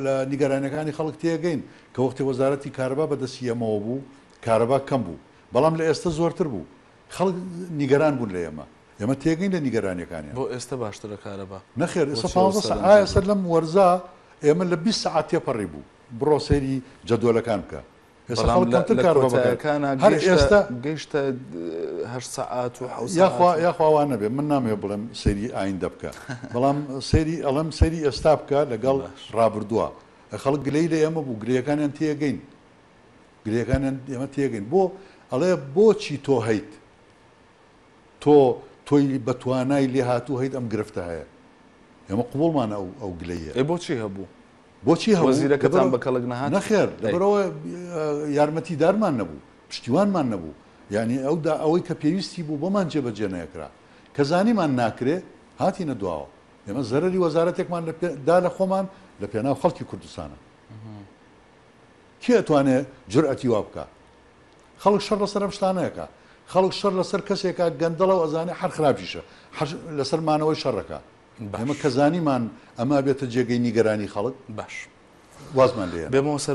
لە نیگەرانیەکانی خەڵک تێگەین کە وەختی وەزارەتی کارەبا بەدەستی ئێمەوە بوو کارەبا کەم بوو بەڵام لە ئێستە زۆرتر بوو خەڵک نیگەران بوون لە ئێمە ئێمە تێگەین لە نیگەرانیەکانیان. بۆ ئێستە باشترە کارەبا؟ نەخێر ئێستا بۆچی ئەو 15 سەعات سەرنجە ئایا بوو؟ ئێستا لەم وەرزا ئێمە لە 20 سەعات تێپەڕی بوو بڕۆ سەیری جەدۆلەکان بکە ئێستا بەڵام خەڵک لە کەمتر لە کارەبا بەکار کۆتایەکانا هەر گەیشتە ئێستا گەیشتە هەشت سەعات و حەوت یاخوا سەعات و. یاخوا وا نەبێ من نامەوێ بڵێم سەیری ئایندە بکە بەڵام سەیری ئەڵێم سەیری ئێستا بکە لەگەڵ باش. ڕابردووە خەڵک گلەیی لە ئێمە بوو گلەیەکانیان تێگەین گلەیەکانیان ئێمە تێگەین بۆ ئەڵێ بۆچی تۆ هەیت تۆ تۆی بە توانای لێهاتوو هەیت ئەم گرفتە هەیە ئێمە قبوڵمانە ئەو ئەو گلەییە. ئەی بۆچی هەبوو؟ بۆچی هەبوو؟ وەزیرەکەتان بە کەڵک نەهات؟ نەخێر ئەی. لەبەرئەوە یارمەتیدارمان نەبوو، پشتیوانمان نەبوو، یانی ئەو دا ئەوەی کە پێویستی بوو بۆمان جێبەجێ نەکرا. کە زانیمان ناکرێ هاتینە دواوە. ئێمە زەرەری وەزارەتێکمان لە پێ دا لە خۆمان لە پێناو خەڵکی کوردستانە. کێ ئەتوانێ جورئەتی وا بکا؟ خەڵک شەڕ لەسەر ئەم شتانە ئەکا. خەڵک شەڕ لەسەر کەسێکا گەندەڵە و ئەزانێ هەر خراپیشە. حەر لەسەر مانەوەی شەڕ ئەکا. باش. ئێمە کە زانیمان ئەمە ئەبێتە جێگەی نیگەرانی خەڵک باش. وازمان لێ هێنا. بێمەوە سەر.